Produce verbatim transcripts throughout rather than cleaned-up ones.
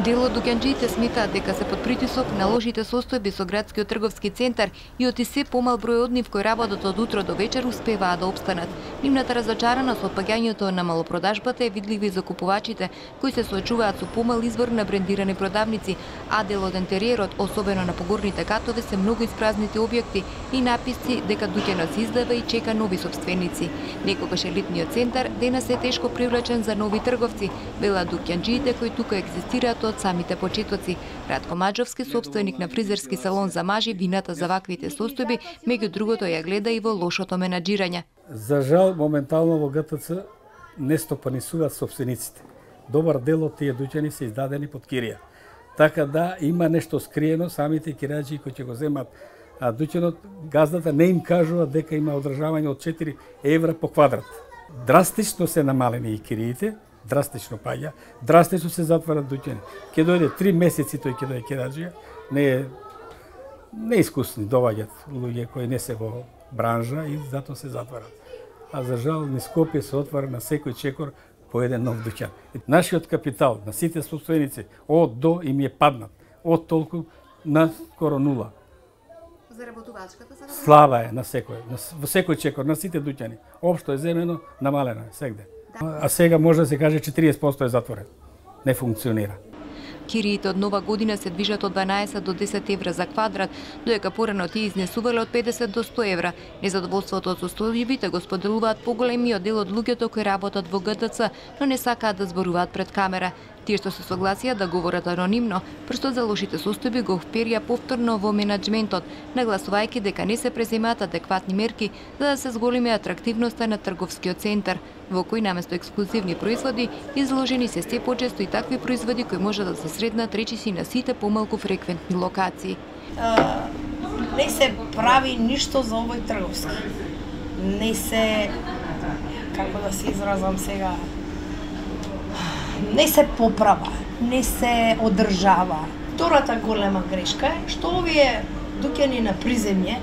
Дел од дуќанџиите сметаат дека се под притисок на лошите состојби со градскиот трговски центар и оти се помал број од нив кои работат од утро до вечер успеваат да опстанат. Нивната разочараност од паѓањето на малопродажбата е видлива и за купувачите кои се соочуваат со помал извор на брендирани продавници, а дел од интериерот, особено на погорните катови, се многу испразнети објекти и написци дека дуќанот се издава и чека нови сопственици. Некогаш елитниот центар денес е тешко привлечен за нови трговци, велат дуќанџиите кои тука екзистираат од самите почетоци. Радко Маџовски, собственик на фризерски салон за мажи, вината за ваквите состојби, меѓу другото ја гледа и во лошото менаџирање. За жал, моментално во ГТЦ не стопанисуваат собствениците. Добар дел од тие дуќани се издадени под кирија. Така да има нешто скриено, самите кираџи кои ќе го земат а дуќанот, газдата не им кажува дека има одржавање од четири евра по квадрат. Драстично се намалени и кириите, драстично паѓа, драстично се затварат дуќани. Ке дојде три месеци тој ќе дојде кираџија, не е неискусни доаѓаат луѓе кои не се во бранжа и затоа се затварат. А за жал низ Скопје се отвара на секој чекор по еден нов дуќан. Нашиот капитал на сите собственици од до им е паднат, од толку на скоро нула. Заработувачката за слаба е на секој, на, во секој чекор, на сите дуќани. Општо е земено, намалено е сегде. А сега може да се каже четириесет проценти е затворен. Не функционира. Кириите од нова година се движат од дванаесет до десет евра за квадрат, доека порано тие изнесувале од педесет до сто евра. Незадоволството од состојбите го споделуваат поголемиот дел од луѓето кои работат во ГТЦ, но не сакаат да зборуваат пред камера. Тие што се согласија да говорат анонимно, прстот за лошите состојби го вперија повторно во менаџментот, нагласувајќи дека не се преземаат адекватни мерки за да се зголеми атрактивноста на трговскиот центар, во кој наместо ексклузивни производи изложени се се почесто и такви производи кои може да се сретнат речиси на сите помалку фреквентни локации. А, не се прави ништо за овој трговски. Не се, како да се изразам сега, не се поправа, не се одржава. Втората голема грешка е што овие дуќани на приземје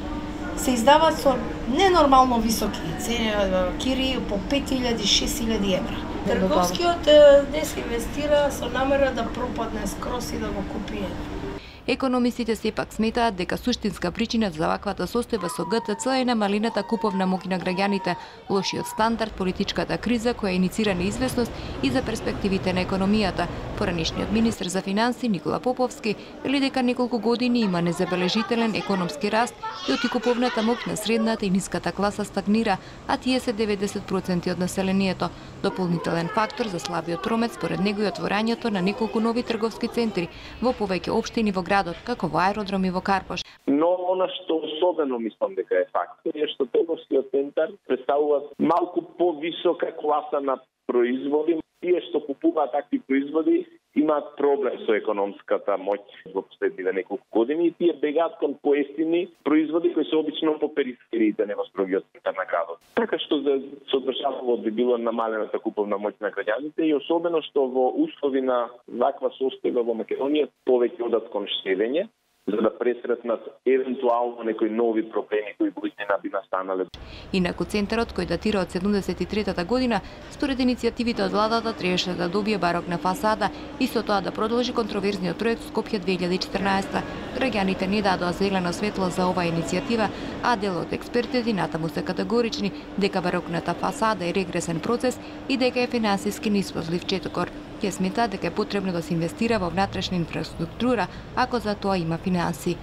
се издаваат со ненормално високи цени, кири по пет илјади, шест илјади евра. Трговскиот днес инвестира со намера да пропадне скрос и да го купи еден. Економистите сепак сметаат дека суштинска причина за ваквата состојба со ГТЦ е намалената куповна моќ на граѓаните, лошиот стандард, политичката криза која иницира неизвестност и за перспективите на економијата. Поранишниот министер за финансии Никола Поповски вели дека неколку години има незабележителен економски раст и оти куповната моќ на средната и ниската класа стагнира, а тие се деветдесет проценти од населението. Дополнителен фактор за слабиот промет според него е отворањето на неколку нови трговски центри во повеќе општини во градот, како во аеродром и во Карпош. Но она што особено мислам дека е фактор е што трговскиот центар представува малку повисока класа на производи. Тие што купуваат такви производи имаат проблем со економската моќ во последниве неколку години и тие бегаат кон поевтини производи кои се обично по перифериите, не во строгиот центар на градот. Така што за содржавот би било намалената куповна моќ на граѓаните и особено што во услови на ваква состојба во Македонија повеќе одат кон штедење, за да пресретнат евентуално некои нови проблеми кои буднина би настанале. Инаку центарот кој датира од седумдесет и третата година, според иницијативите од владата требаше да добие барокна фасада и со тоа да продолжи контроверзниот проект Скопје две илјади и четрнаесета. Граѓаните не дадоа зелено светло за оваа иницијатива, а дел од експертите натаму се категорични дека барокната фасада е регресен процес и дека е финансиски неисплатлив четокор. Ќе смета дека е потребно да се инвестира во внатрешна инфраструктура ако за тоа има финансии.